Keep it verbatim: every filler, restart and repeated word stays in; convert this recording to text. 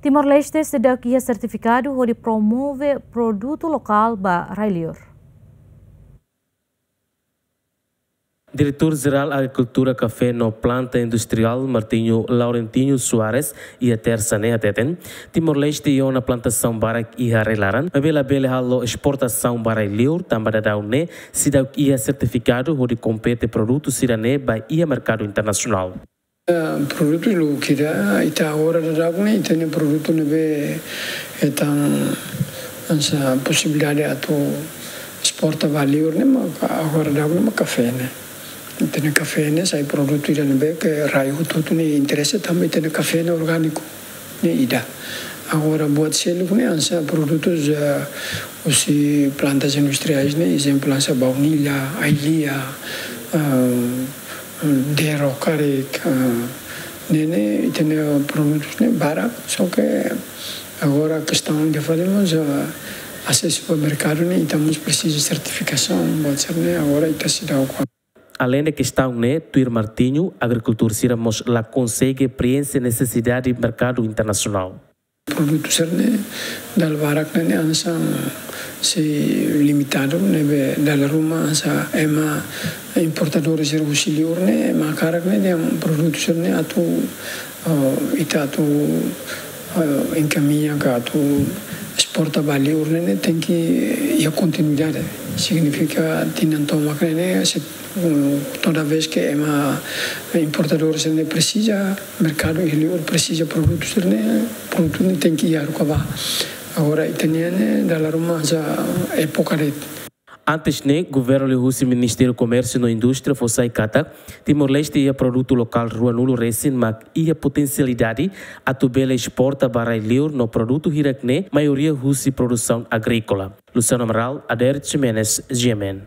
Timor-Leste seidauk iha sertifikadu hodi promove produtu lokál ba rai-liur. Diretór Jerál Agrikultura, Kafé no Planta Industriál, Martinho Laurentinho Soares, iha Tersa ne'e hateten, Timor-Leste iha ona plantasaun barak iha rai-laran, maibé labele halo esportasaun ba rai-liur, tanba daudaun ne'e seidauk iha sertifikadu hodi kompete produtu sira-ne'e ba iha merkadu internasionál. Eh, produtu lubuk ida, ita agora daudaun ne'e, ita-nia produtu ne'ebé hetan hanesan posibilidade atu esporta ba liur ne'e, maka agora daudaun ne'e, maka kafé ne'e. Ita-nia kafé ne'e sai produtu ida ne'ebé ke rai hotu-hotu nia interese, tanba ita-nia kafé ne'e orgániku ne'e ida. Agora buat seluk ne'e hanesan produtus, eh, husi plantas industriais ne'e, ezemplu hanesan baunilha, ai-lia, eh, dero karik, eh, ne'e ne'e, ita-nia produtus ne'e barak, só ke agora kestaun ida fali mós, eh, asesu ba merkadu ne'e, ita mós presiza sertifikasaun, buat sira-ne'e, agora ita seidauk. Aleinde kestaun ne'e, tuir Martinho, agrikultór sira mós la konsege preenxe nesesidade merkadu internasionál. Produtu sira-ne'e, dala barak ne'e, ne'e hanesan sei limitadu, ne'ebé dala ruma hanesan ema importadór sira husi liur ne'e, ema hakarak ne'e, ne'e produtu sira-ne'e atu, eh, ita atu, eh, enkamiña ka atu esporta ba liur ne'e, ne'e tenke iha kontinuidade. Signifika tinan tomak ne'e, ne'e, se, mm, toda vez ke ema importadór sira-ne'e presiza, merkadu iha liur presiza produtu sira-ne'e, produtu ne'e tenke iha haruka ba. Agora ita-nian ne'e dala ruma hanesan époka de'it. Antes ne'e, governu liuhusi Ministériu Komérsiu no Indústria fó sai katak Timor-Leste iha produtu lokál ruanulu resin mak iha potensialidade atu bele esporta ba rai-liur no produtu hirak-ne'e maioria husi produsaun agríkola. Luciano Amaral, Adair Ximenes, G M N.